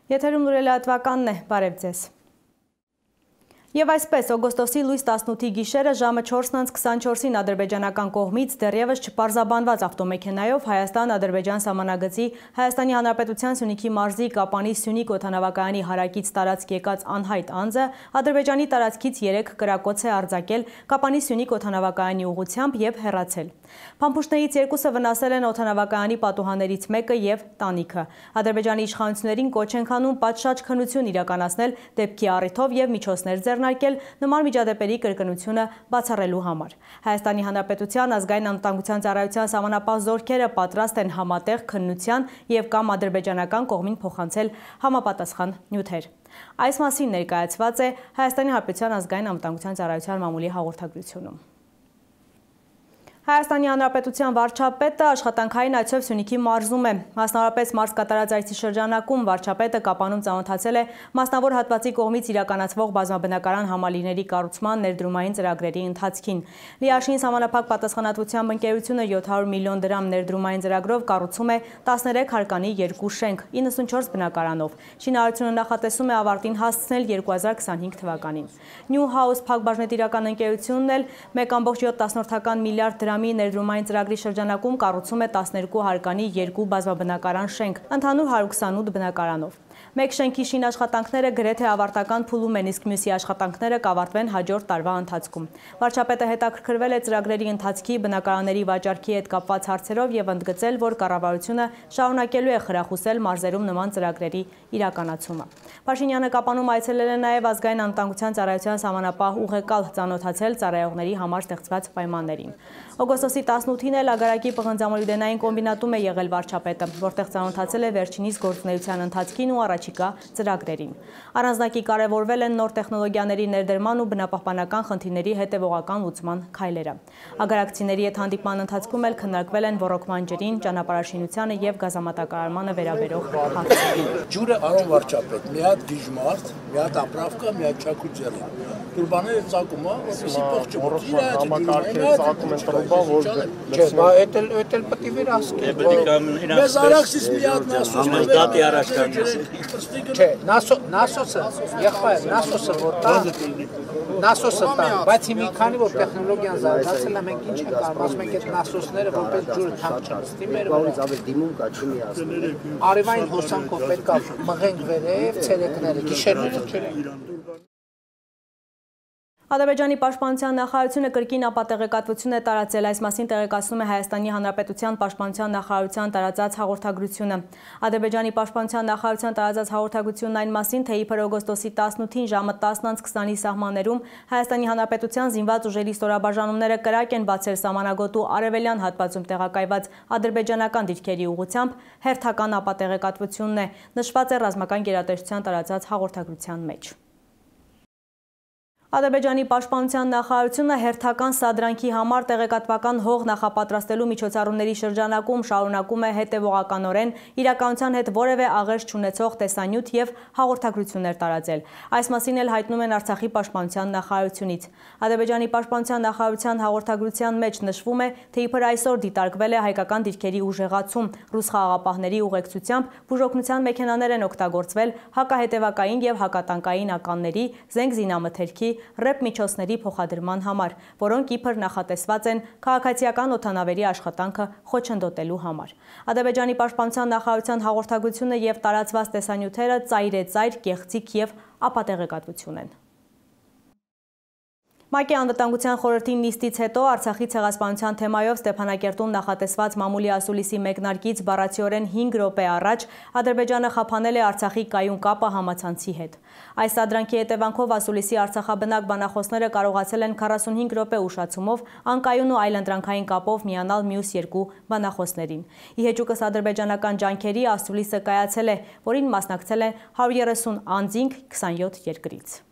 Եթերում լուրել ատվականն է, բարև ձեզ։ Եվ այսպես, օգոստոսի լույս 18-ի գիշերը ժամը 4:24-ին ադրբեջանական կողմից դեռևս չպարզաբանված ավտոմեքենայով Հայաստան-Ադրբեջան սահմանագծի Հայաստանի Հանրապետության Սյունիքի մարզի Կապանի Սյունիք օդանավակայանի հարակից տարածք եկած անհայտ անձը Ադրբեջանի տարածքից 3 կրակոց է արձակել Կապանի Սյունիք օդանավակայանի ուղղությամբ եւ հեռացել։ Փամփուշտներից երկուսը վնասել են օդանավակայանի պատուհաններից մեկը եւ տանիքը։ Ադրբեջանի իշխանություններին կոչ են անում պատշաճ քննություն իրականացնել դեպքի առիթով եւ միջոցներ ձեռնարկել նման միջադեպերի կրկնությունը բացառելու համար։ Հայաստանի Հանրապետության ազգային անվտանգության ծառայության սահմանապահ զորքերը պատրաստ են համատեղ քննության եւ կամ ադրբեջանական կողմին փոխանցել համապատասխան նյութեր։ Այս մասին ներկայացված է Հայաստանի Հանրապետության ազգային անվտանգության ծառայության մամուլի հաղորդագրությունում։ Հայաստանի Հանրապետության վարչապետը աշխատանքային այցով Սյունիքի մարզում է։ Մասնավորապես մարզ կատարած այցի շրջանակում վարչապետը Կապանում ծանոթացել է մասնավոր հատվածի կողմից իրականացվող բազմաբնակարան համալիրների կառուցման ներդրումային ծրագրերի ընթացքին։ Լիաշին սահմանափակ պատասխանատվությամբ ընկերությունը 700 միլիոն դրամ ներդրումային ծրագրով կառուցում է 13 հարկանի 2 շենք 94 բնակարանով։ Շինարարությունը նախատեսում է ավարտին հասցնել 2025 թվականին։ New House փակbaşնետիրական ընկերությունն էլ 1.7 միլիարդ դրամ ներդրումային ծրագրի շրջանակում կառուցում է 12 հարկանի 2 բազմաբնակարան շենք, ընդհանուր 128 բնակարանով։ Մեկ շենքի շինաշխատանքները գրեթե ավարտական փուլում են, իսկ մյուսի աշխատանքները կավարտվեն հաջորդ տարվա ընթացքում։ Վարչապետը հետաքրքրվել է ծրագրերի ընթացքի, բնակարանների վաճառքի հետ կապված հարցերով եւ ընդգծել, որ կառավարությունը շարունակելու է խրախուսել մարզերում նման ծրագրերի իրականացումը։ Փաշինյանը Կապանում այցելել է նաեւ ազգային անվտանգության ծառայության սահմանապահ ուղեկալ, ծանոթացել ծառայողների համար ստեղծված պայմաններին։ Օգոստոսի 18-ին էլ Ագարակի պղնձամոլիբդենային կոմբինատում է եղել վարչապետը, որտեղ ծանոթացել է վերջինիս գործունեության ընթացքին ու առաջիկա ծրագրերին։ Առանձնակի կարևորվել են նոր տեխնոլոգիաների ներդրման ու բնապահպանական խնդիրների հետևողական լուծման քայլերը։ Ագարակցիների հետ հանդիպման ընթացքում էլ քննարկվել են ոռոգման ջրին, ճանապարհաշինությանը եւ գազամատակարարմանը վերաբերող հարցեր։ Ջուրը արոն վարչապետ, մի հատ դիժմարտ, մի հատ ապրավկա, մի հատ չակուջերը։ Турбաները ծակում է, որպեսզի Նասոսը տան, բայց մի քանի որ տեխնոլոգիան զարգացել է, մենք ինչ ենք անում, ասում ենք այդ նասոսները որպես ջուրը թանկ չանցնի մեր որից ավելի դիմում կա չունի ասում։ Արևային հոսանքով պետք է մղենք վերև ցերեկները, գիշերները չերենք։ Ադրբեջանի պաշտպանության նախարարությունը կրկին ապատեղեկատվություն է տարածել, այս մասին տեղեկացնում է Հայաստանի Հանրապետության պաշտպանության նախարարության տարածած հաղորդագրությունը։ Ադրբեջանի պաշտպանության նախարարության տարածած հաղորդագրությունն այն մասին, թե իբր օգոստոսի 18-ին ժամը 10:20-ի սահմաններում Հայաստանի Հանրապետության զինված ուժերի ստորաբաժանումները կրակ են բացել սահմանագոտու արևելյան հատվածում տեղակայված ադրբեջանական դիրքերի ուղղությամբ, հերթական ապատեղեկատվությունն է, նշված է ռազմական գերատեսչության տարածած հաղորդագրության մեջ։ Ադրբեջանի պաշտպանության նախարարությունը հերթական սադրանքի համար տեղեկատվական հող նախապատրաստելու միջոցառումների շրջանակում շարունակում է հետևողականորեն իրականության հետ որևէ աղերս չունեցող տեսանյութ եւ հաղորդագրություններ տարածել։ Այս մասին էլ հայտնում են Արցախի պաշտպանության նախարարությունից։ Ադրբեջանի պաշտպանության նախարարության հաղորդագրության մեջ նշվում է, թե իբր այսօր դիտարկվել է հայկական դիրքերի ուժեղացում, ռուս խաղաղապահների ուղեկցությամբ բուժօգնության մեքենաներ են օգտագործվել հակահետևակային եւ հակատանկային ականների, զենք զինամթերքի, ռեպ միջոցների փոխադրման համար, որոնք իբր նախատեսված են քաղաքացիական օդանավերի աշխատանքը խոչընդոտելու համար։ Ադրբեջանի պաշտպանության նախարարության հաղորդագրությունը եւ տարածված տեսանյութերը ծայրեծայր, կեղծիք եւ ապատեղեկատվություն են։ ՄԱԿ-ի անվտանգության խորհրդի նիստից հետո Արցախի ցեղասպանության թեմայով Ստեփանակերտում նախատեսված մամուլի ասուլիսի մեկնարկից բառացիորեն 5 րոպե առաջ Ադրբեջանը խափանել է Արցախի կայուն կապը համացանցի հետ։ Այս սադրանքի հետևանքով ասուլիսի արցախաբնակ բանախոսները կարողացել են 45 րոպե ուշացումով անկայուն ու այլընտրանքային կապով միանալ մյուս երկու բանախոսներին։ Ի հեճուկս ադրբեջանական ջանքերի ասուլիսը կայացել է, որին մասնակցել են 130 անձինք 27 երկրից։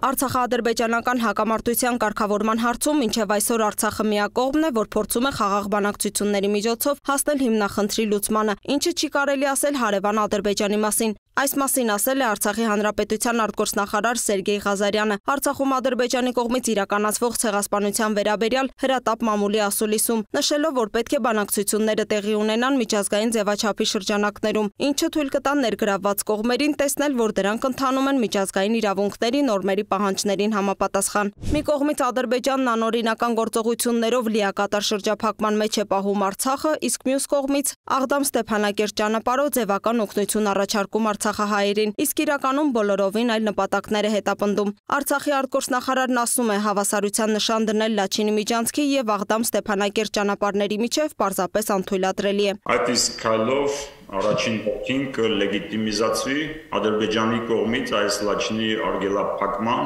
Արցախա-ադրբեջանական հակամարտության կարգավորման հարցում մինչև այսօր Արցախը միակ կողմն է, որ փորձում է խաղաղ բանակցությունների միջոցով հասնել հիմնախնդրի լուծմանը, ինչը չի կարելի ասել հարևան Ադրբեջանի մասին։ Այս մասին ասել է Արցախի Հանրապետության արտգործնախարար Սերգեյ Ղազարյանը Արցախում Ադրբեջանի կողմից իրականացվող ցեղասպանության վերաբերյալ հրատապ մամուլի ասուլիսում, նշելով, որ պետք է բանակցությունները տեղի ունենան միջազգային ձևաչափի շրջանակներում, ինչը թույլ կտա ներգրավված կողմերին տեսնել, որ դրանք ընթանում են միջազգային իրավունքների նորմերի պահանջներին համապատասխան։ Մի կողմից Ադրբեջանն անօրինական գործողություններով լիակատար շրջափակման մեջ է պահում Արցախը, իսկ մյուս կողմից Աղդամ Ստեփանակերտ ճանապարհով ձևական օգնություն առաջարկում արցախահայերին, իսկ իրականում բոլորովին այլ նպատակներ է հետապնդում։ Արցախի արտգործնախարարն ասում է, հավասարության նշան դնել Լաչինի միջանցքի եւ Աղդամ Ստեփանակերտ ճանապարհների միջև պարզապես անթույլատրելի է։ Այդ իսկ քայլով առաջին հերթին կլեգիտիմիզացվի Ադրբեջանի կողմից այս Լաչինի արգելափակման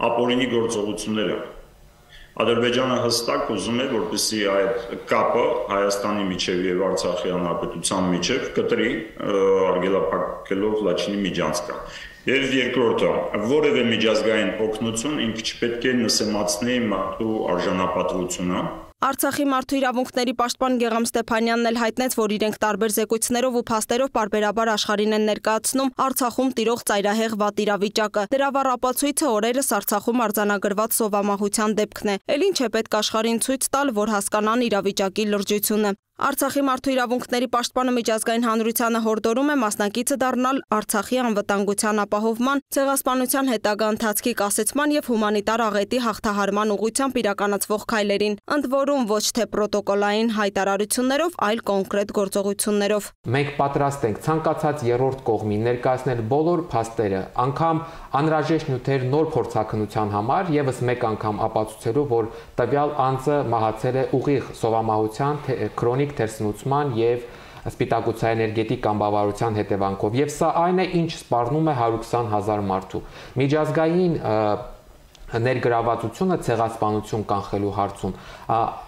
ապօրինի գործողությունները։ Ադրբեջանը հստակ ուզում է, որպեսզի այդ կապը Հայաստանի միջև եւ Արցախի հանրապետության միջև կտրի արգելափակելով Լաչինի միջանցքը։ Եվ երկրորդը, որևէ միջազգային օգնություն ինքը չպետք է նսեմացնի մարդու արժանապատվությունը։ Արցախի մարդու իրավունքների պաշտպան Գեգամ Ստեփանյանն էլ հայտնեց, որ իրենք տարբեր զեկույցներով ու փաստերով պարբերաբար աշխարհին են ներկայացնում Արցախում տիրող ծայրահեղ վատ իրավիճակը։ Դրա վառ ապացույցը օրերս Արցախում արձանագրված սովամահության դեպքն է։ Էլ ինչ է պետք աշխարհին ցույց տալ, որ հասկանան իրավիճակի լրջությունը։ Արցախի մարդու իրավունքների պաշտպանը միջազգային հանրությանը հորդորում է մասնակիցը դառնալ Արցախի անվտանգության ապահովման, ցեղասպանության հետագա ընթացքի կասեցման եւ հումանիտար աղետի հաղթահարման ուղղությամբ իրականացվող քայլերին, ընդ որում ոչ թե պրոտոկոլային հայտարարություններով, այլ կոնկրետ գործողություններով։ Մենք պատրաստ ենք ցանկացած երրորդ կողմի ներկայացնել բոլոր փաստերը, անգամ անհրաժեշտ նյութեր նոր փորձաքննության համար, եւս մեկ անգամ ապացուցելու, որ տվյալ անձը մահացել է ուղիղ սովամահության, քրոնիկ թերսնուցման եւ սպիտակուցային էներգետիկ անբավարարության հետևանքով։ Եվ սա այն է, ինչ սպառնում է 120,000 մարդու։ Միջազգային ներգրավվածությունը ցեղասպանություն կանխելու հարցում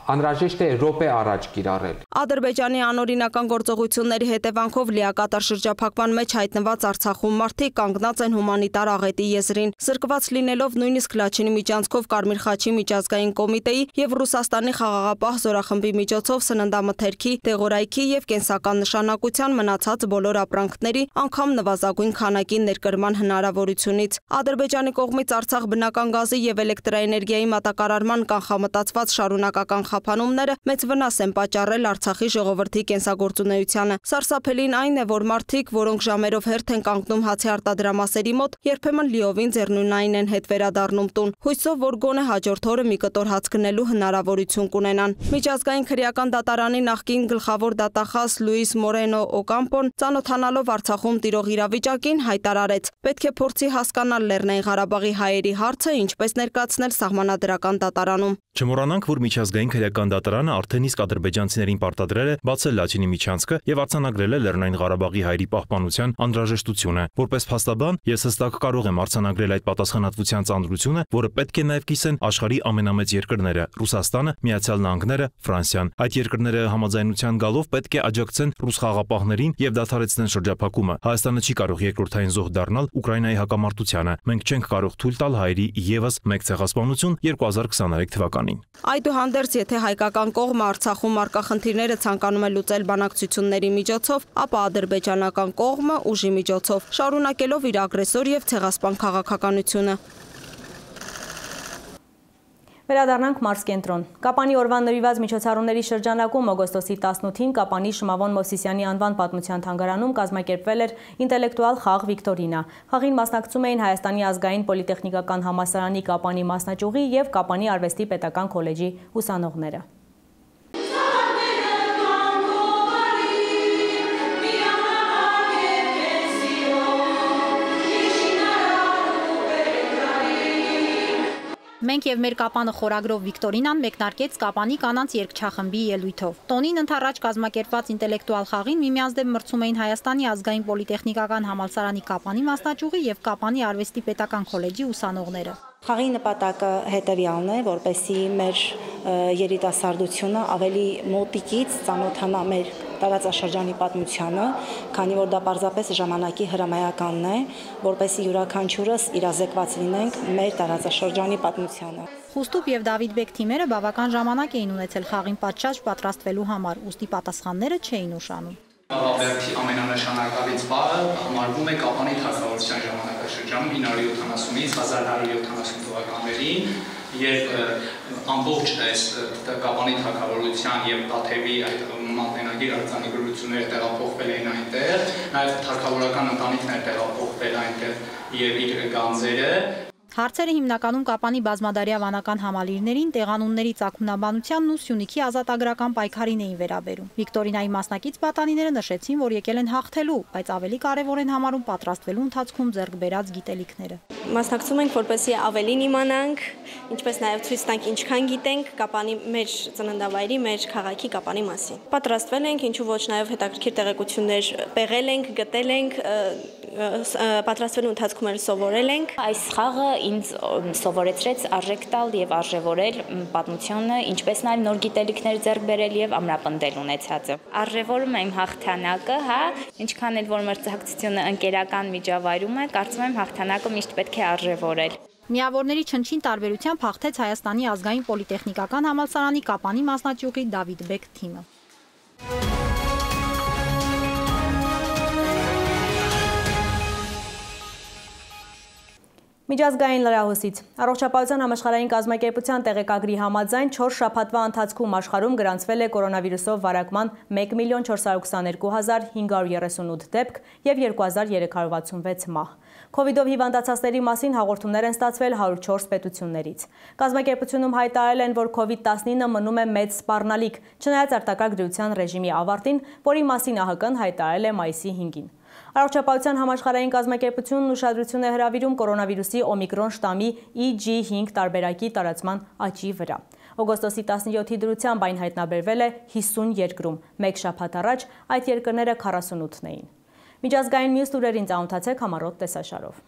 անհրաժեշտ է րոպե առաջ կիրառել։ Ադրբեջանի անօրինական գործողությունների հետևանքով լիակատար շրջափակման մեջ հայտնված Արցախում մարդիկ կանգնած են հումանիտար աղետի եզրին, զրկված լինելով նույնիսկ Լաչինի միջանցքով Կարմիր խաչի միջազգային կոմիտեի եւ Ռուսաստանի խաղաղապահ զորախմբի միջոցով սննդամթերքի, դեղորայքի եւ կենսական նշանակության մնացած բոլոր ապրանքների, անգամ նվազագույն քանակի ներկրման հնարավորությունից։ Ադրբեջանի կողմից Արցախ բնական գազի եւ էլեկտրաէներգիայի մատակարարման կանխամտածված շարունակական խափանումները մեծ վնաս են պատճառել Արցախի ժողովրդի կենսագործունեությանը։ Սարսափելին այն է, որ մարդիկ, որոնք ժամերով հերթ են կանգնում հացի արտադրամասերի մոտ, երբեմն լիովին ձեռնունայն են հետ վերադառնում տուն, հույսով, որ գոնե հաջորդ օրը մի կտոր հաց գնելու հնարավորություն կունենան։ Միջազգային քրեական դատարանի նախկին գլխավոր դատախազ Լուիս Մորենո Օկամպոն, ծանոթանալով Արցախում տիրող իրավիճակին, հայտարարեց. պետք է փորձի հասկանալ Լեռնային Ղարաբաղի հայերի հարցը, ինչպես ներկայացնել սահմանադրական դատարանում։ Չմոռանանք, որ միջազգային քրեական դատարանը արդեն իսկ ադրբեջանցիներին պարտադրել է բացել Լաչինի միջանցքը եւ արձանագրել է Լեռնային Ղարաբաղի հայերի պահպանության անհրաժեշտությունը։ Որպես փաստաբան, ես հստակ կարող եմ արձանագրել այդ պատասխանատվության ծանրությունը, որը պետք է նաեւ կիսեն աշխարհի ամենամեծ երկրները՝ Ռուսաստանը, Միացյալ Նահանգները, Ֆրանսիան։ Այդ երկրները համաձայնության գալով պետք է աջակցեն ռուս խաղաղապահներին եւ դադարեցնեն շրջափակումը։ Հայաստանը չի կարող երկրորդային զոհ դառնալ Ուկրաինայի հակամարտությանը։ Մենք չենք կարող թույլ տալ հայերի եւս մեկ ցեղասպանություն 2023 թվականին։ Այդուհանդերձ, եթե հայկական կողմը Արցախում առկա խնդիրները ցանկանում է լուծել բանակցությունների միջոցով, ապա ադրբեջանական կողմը ուժի միջոցով, շարունակելով իր ագրեսոր եւ ցեղասպան քաղաքականությունը։ Վերադառնանք մարզկենտրոն։ Կապանի օրվան նվիրված միջոցառումների շրջանակում օգոստոսի 18-ին Կապանի Շմավոն Մովսիսյանի անվան պատմության թանգարանում կազմակերպվել էր ինտելեկտուալ խաղ Վիկտորինա։ Խաղին մասնակցում էին Հայաստանի ազգային պոլիտեխնիկական համալսարանի Կապանի մասնաճյուղի եւ Կապանի արվեստի պետական քոլեջի ուսանողները։ Մենք եւ մեր Կապանը խորագրով Վիկտորինան մեկնարկեց Կապանի կանանց երգչախմբի ելույթով։ Տոնին ընթառաջ կազմակերպված ինտելեկտուալ խաղին միմյանց դեմ մրցում էին Հայաստանի ազգային պոլիտեխնիկական համալսարանի Կապանի մասնաճյուղի եւ Կապանի արվեստի պետական քոլեջի ուսանողները։ Խաղի նպատակը հետևյալն է, որպեսզի մեր երիտասարդությունը ավելի մոտիկից ծանոթանա մեր տարածաշրջանի պատմությանը, քանի որ դա պարզապես ժամանակի հրամայականն է, որպեսզի յուրաքանչյուրս իրազեկված լինենք մեր տարածաշրջանի պատմությանը։ Խուստուկ եւ Դավիթ Բեկ թիմերը բավական ժամանակ էին ունեցել խաղին պատշաճ պատրաստվելու համար, ուստի պատասխանները չէին ուշանում։ Բավարարի ամենանշանակալից բառը համարվում է Կապանի թագավորության ժամանակաշրջանում 970-ից 1170 թվականներին, եւ ամբողջ այս Կապանի թագավորության եւ Տաթևի այդ մատենագիր արձանի գրությունները տեղափոխվել էին այնտեղ, նաեւ թագավորական ընտանիքներ տեղափոխվել այնտեղ եւ իր գանձերը։ Հարցերը հիմնականում Կապանի բազմադարյա վանական համալիրներին, տեղանունների ծագումնաբանությանն ու Սյունիքի ազատագրական պայքարին էին վերաբերում։ Վիկտորինայի մասնակից պատանիները նշեցին, որ եկել են հաղթելու, բայց ավելի կարևոր են համարում պատրաստվելու ընթացքում ձեռք բերած գիտելիքները։ Մասնակցում ենք, որպեսզի ավելին իմանանք, ինչպես նաև ցույց տանք ինչքան գիտենք Կապանի մեր ծննդավայրի, մեր քաղաքի Կապանի մասին։ Պատրաստվել ենք, ինչու ոչ նաև հետաքրքիր տեղեկություններ պեղել ենք, գտել ենք, պատրաստվելու ընթացքում էլ սովորել ենք։ Այս խաղը ինձ սովորեցրեց արժեք տալ եւ արժեվորել պատմությունը, ինչպես նաեւ նոր գիտելիքներ ձեռք բերել եւ ամրապնդել ունեցածը։ Արժեվորում եմ հաղթանակը, հա, ինչքան էլ որ մրցակցությունը ընկերական միջավայրում է, կարծում եմ հաղթանակը միշտ պետք է արժեվորել։ Միավորների չնչին տարբերությամբ հաղթեց Հայաստանի ազգային պոլիտեխնիկական համալսարանի Կապանի մասնաճյուղի Դավիթ Բեկ թիմը։ Միջազգային լրահոսից։ Առողջապահության համաշխարհային կազմակերպության տեղեկագրի համաձայն 4 շաբաթվա ընթացքում աշխարհում գրանցվել է կորոնավիրուսով վարակման 1,422,538 դեպք եւ 2366 մահ։ Քովիդով հիվանդացածների մասին հաղորդումներ են ստացվել 104 պետություններից։ Կազմակերպությունում հայտարարել են, որ COVID-19 մնում է մեծ սպառնալիք, չնայած արտակարգ դրության ռեժիմի ավարտին, որի մասին ԱՀԿ-ն հայտարարել է մայիսի 5-ին։ Առողջապահության համաշխարհային կազմակերպությունն ուշադրություն է հրավիրում կորոնավիրուսի օմիկրոն շտամի EG5 տարբերակի տարածման աճի վրա։ Օգոստոսի 17-ի դրությամբ այն հայտնաբերվել է 50 երկրում, մեկ շաբաթ առաջ այդ երկրները 48-ն էին։ Միջազգային մյուս լուրերին ծանոթացեք համառոտ տեսաշարով։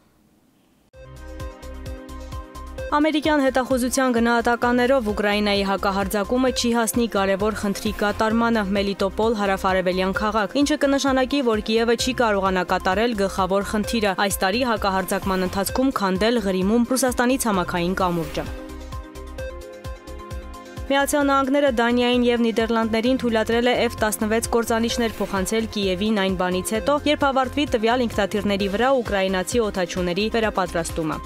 Ամերիկյան հետախուզության գնահատականներով Ուկրաինայի հակահարձակումը չի հասնի կարևոր խնդրի կատարմանը՝ Մելիտոպոլ հարավարևելյան քաղաք, ինչը կնշանակի, որ Կիևը չի կարողանա կատարել գլխավոր խնդիրը՝ այս տարի հակահարձակման ընթացքում քանդել Ղրիմում Ռուսաստանի ցամաքային կամուրջը։ Միացյալ Նահանգները Դանիային եւ Նիդերլանդներին թույլատրել է F-16 կործանիչներ փոխանցել Կիևին այն բանից հետո, երբ ավարտվի տվյալ ինքնաթիռների վրա ուկրաինացի օդաչուների վերապատրաստումը։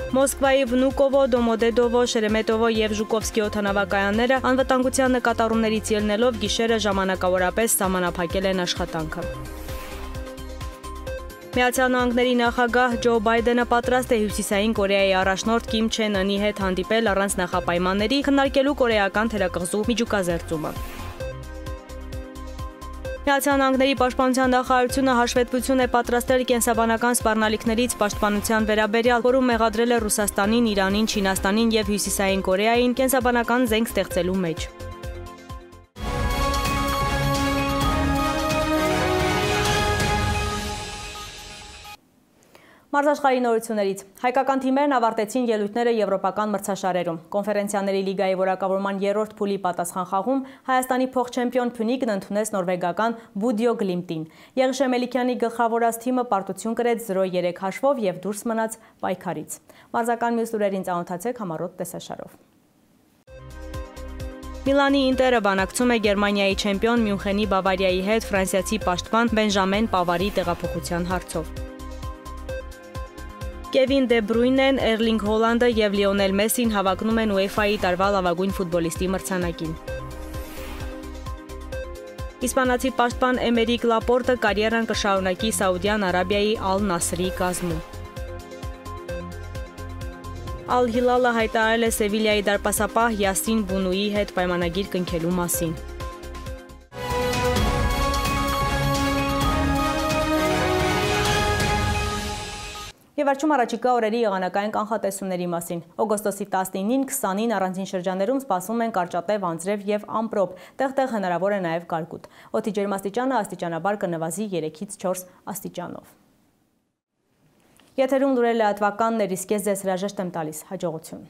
Մոսկվայի Վնուկովո, Դոմոդեդովո, Շերեմետովո եւ Ժուկովսկի օդանավակայանները անվտանգության նկատառումներից ելնելով գիշերը ժամանակավորապես սահմանափակել են աշխատանքը։ Միացյալ Նահանգների նախագահ Ջո Բայդենը պատրաստ է Հյուսիսային Կորեայի առաջնորդ Կիմ Չեն Ընի հետ հանդիպել առանց նախապայմանների, քննարկելու կորեական թերակղզու միջուկազերծումը։ Միացյալ Նահանգների պաշտպանության նախարարությունը հաշվետվություն է պատրաստել կենսաբանական սպառնալիքներից պաշտպանության վերաբերյալ, որում մեղադրել է Ռուսաստանին, Իրանին, Չինաստանին եւ Հյուսիսային Կորեային կենսաբանական զենք ստեղծելու մեջ։ Մարզաշխարհի նորություններից։ Հայկական թիմերն ավարտեցին ելույթները եվրոպական մրցաշարերում։ Կոնֆերենցիաների լիգայի որակավորման 3-րդ փուլի պատասխան խաղում Հայաստանի փոխչեմպիոն Փյունիկն ընդունեց նորվեգական Բուդյո Գլիմտին։ Եղիշե Մելիքյանի գլխավորած թիմը պարտություն կրեց 0-3 հաշվով եւ դուրս մնաց պայքարից։ Մարզական մյուս լուրերին ծանոթացեք համառոտ տեսաշարով։ Միլանի Ինտերը բանակցում է Գերմանիայի չեմպիոն Մյունխենի Բավարիայի հետ ֆրանսիացի պաշտպան Բենժամեն Պավարի տեղափոխության հարցով։ Կևին Դե Բրույնեն, Էրլինգ Հոլանդը եւ Լիոնել Մեսին հավակնում են UEFA-ի տարվա լավագույն ֆուտբոլիստի մրցանակին։ Իսպանացի պաշտպան Էմերիկ Լապորտը կարիերան կշարունակի Սաուդյան Արաբիայի Ալ Նասրի կազմում։ Ալ Հիլալը հայտարարել է Սևիլիայի դարպասապահ Յասին Բունուի հետ պայմանագիր կնքելու մասին։ Եվ վերջում առաջիկա օրերի եղանակային կանխատեսումների մասին։ Օգոստոսի 19-ին 20-ին առանձին շրջաններում սպասվում են կարճատև, անձրև եւ ամպրոպ, տեղտեղ հնարավոր է նաեւ կարկուտ։ Օդի ջերմաստիճանը աստիճանաբար կնվազի 3-ից 4 աստիճանով։ Եթերում լուրերը լրատվականն է, իսկ ես ձեզ հրաժեշտ եմ տալիս։ Հաջողություն։